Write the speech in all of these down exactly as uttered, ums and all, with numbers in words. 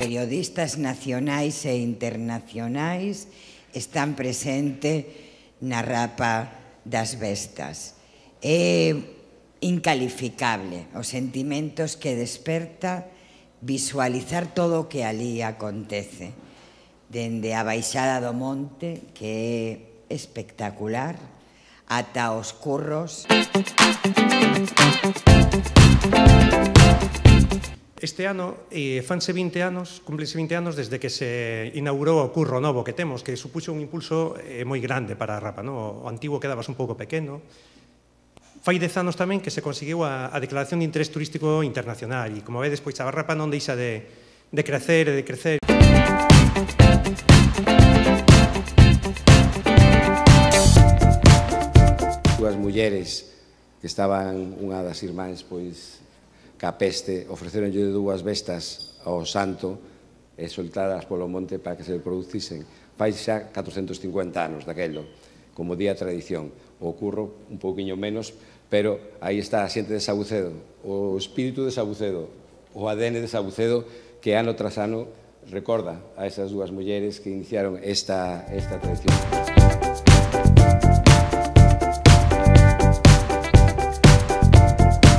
Periodistas nacionais e internacionais están presentes na Rapa das Vestas. É incalificable os sentimentos que desperta visualizar todo o que ali acontece, dende a baixada do monte, que é espectacular, ata os curros. Este ano eh, fanse vinte anos, cúmplense vinte anos desde que se inaugurou o curro novo que temos, que supuxo un impulso eh, moi grande para a Rapa, no? O antigo quedabas un pouco pequeno. Fai dez anos tamén que se conseguiu a, a declaración de interés turístico internacional e, como vedes, pois a Rapa non deixa de, de crecer e de crecer. Dúas mulleres que estaban, unha das irmáns, pois, ca peste, ofreceronlle dúas bestas ao santo e soltadas polo monte para que se producisen. Fai xa catrocentos cincuenta anos daquelo, como día tradición. O curro un pouquiño menos, pero aí está a xente de Sabucedo, o espírito de Sabucedo, o A D N de Sabucedo, que ano tras ano recorda a esas dúas mulleres que iniciaron esta, esta tradición.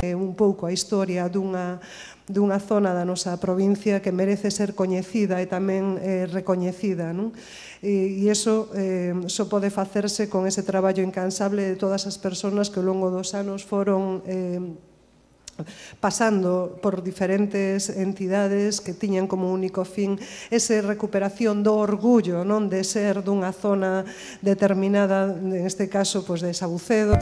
Un pouco a historia dunha, dunha zona da nosa provincia que merece ser coñecida e tamén eh, recoñecida, non? E, e iso eh, só pode facerse con ese traballo incansable de todas as persoas que ao longo dos anos foron eh, pasando por diferentes entidades que tiñan como único fin esa recuperación do orgullo, non, de ser dunha zona determinada, neste caso, pois, de Sabucedo.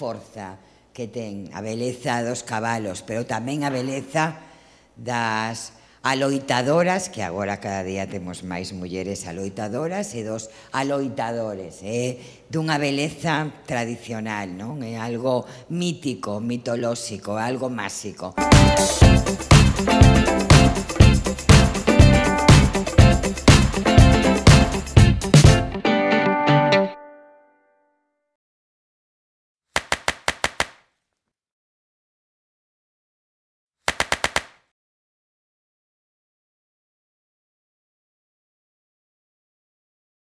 Forza que ten a beleza dos cabalos, pero tamén a beleza das aloitadoras, que agora cada día temos máis mulleres aloitadoras, e dos aloitadores. É dunha beleza tradicional, non? É algo mítico, mitolóxico, algo máxico.